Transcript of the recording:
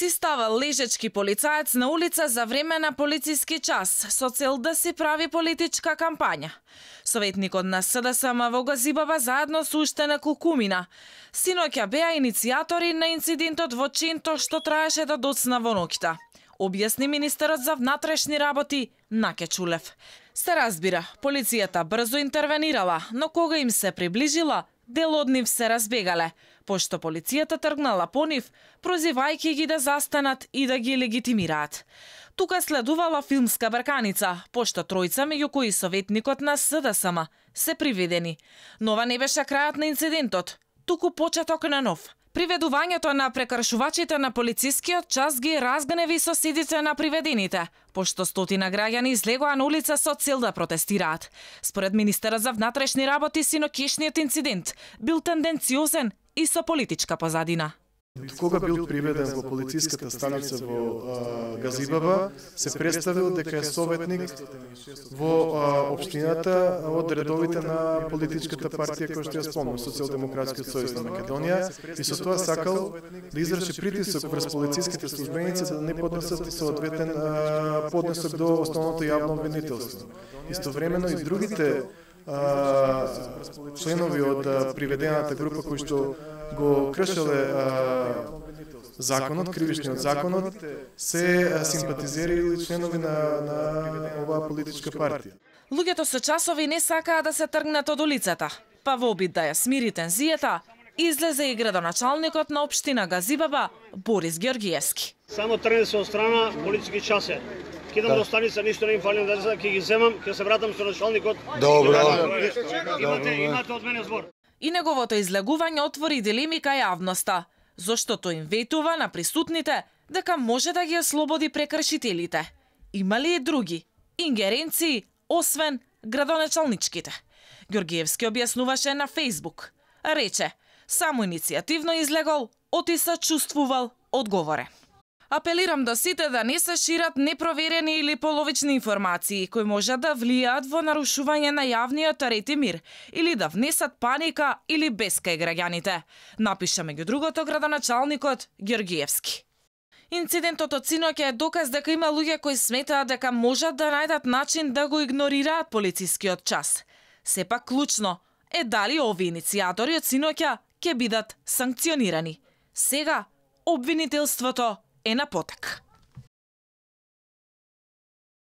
Си става лежечки полицаец на улица за време на полициски час, со цел да си прави политичка кампања. Советникот на СДСМ во Газибаба заедно со уште неколку кумина синоќа беа иницијатори на инцидентот во Ченто што траеше да доцна во ноќта, објасни министерот за внатрешни работи Наке Чулев. Се разбира, полицијата брзо интервенирала, но кога им се приближила, дел од нив се разбегале, пошто полицијата тргнала по нив, прозивајќи ги да застанат и да ги легитимираат. Тука следувала филмска брканица, пошто тројца, меѓу кои советникот на СДСМ, се приведени. Но ова не беше крајот на инцидентот, туку почеток на нов. Приведувањето на прекршувачите на полицискиот час ги разгневи соседите на приведените, пошто стотина граѓани излегоа на улица со цел да протестираат. Според министерот за внатрешни работи, синокешниот инцидент бил тенденциозен и со политичка позадина. Кога бил приведен во полициската станица во Газибаба, се представил дека е советник во општината од редовите на политичката партија која што ја спомнам, Социјалдемократскиот сојуз на Македонија, и со тоа сакал да изврши притисок врз полициските службеници да не поднесат соодветен поднесок до основното јавно обвинителство. Истовремено и другите членови од приведената група кои што го кршеле законот, кривичниот законот, се симпатизери или членови на оваа политичка партија. Луѓето со часови не сакаа да се тргнат од улицата, па во обид да ја смири тензијата, излезе и градоначалникот на општина Газибаба, Борис Ѓоргиевски. Само тргне се од страна политички часе. Кидам до станица, ништо не им фали, да ќе ги земам, ќе се вратам со началникот. Добро. Имате од мене збор. И неговото излегување отвори дилеми кај јавноста, заштото им ветува на присутните дека може да ги ослободи прекршителите. Има ли и други ингеренции, освен градоначалничките? Ѓоргиевски објаснуваше на Фејсбук. Рече, само иницијативно излегол, оти се чувствувал одговорен. Апелирам до сите да не се шират непроверени или половични информации кои може да влијаат во нарушување на јавниот ред и мир или да внесат паника или бес кај граѓаните, напиша меѓу другото градоначалникот Ѓоргиевски. Инцидентот од синоќа е доказ дека има луѓе кои сметаат дека можат да најдат начин да го игнорираат полицискиот час. Сепак клучно е дали овие иницијатори од синоќа ќе бидат санкционирани. Сега обвинителството е на потек.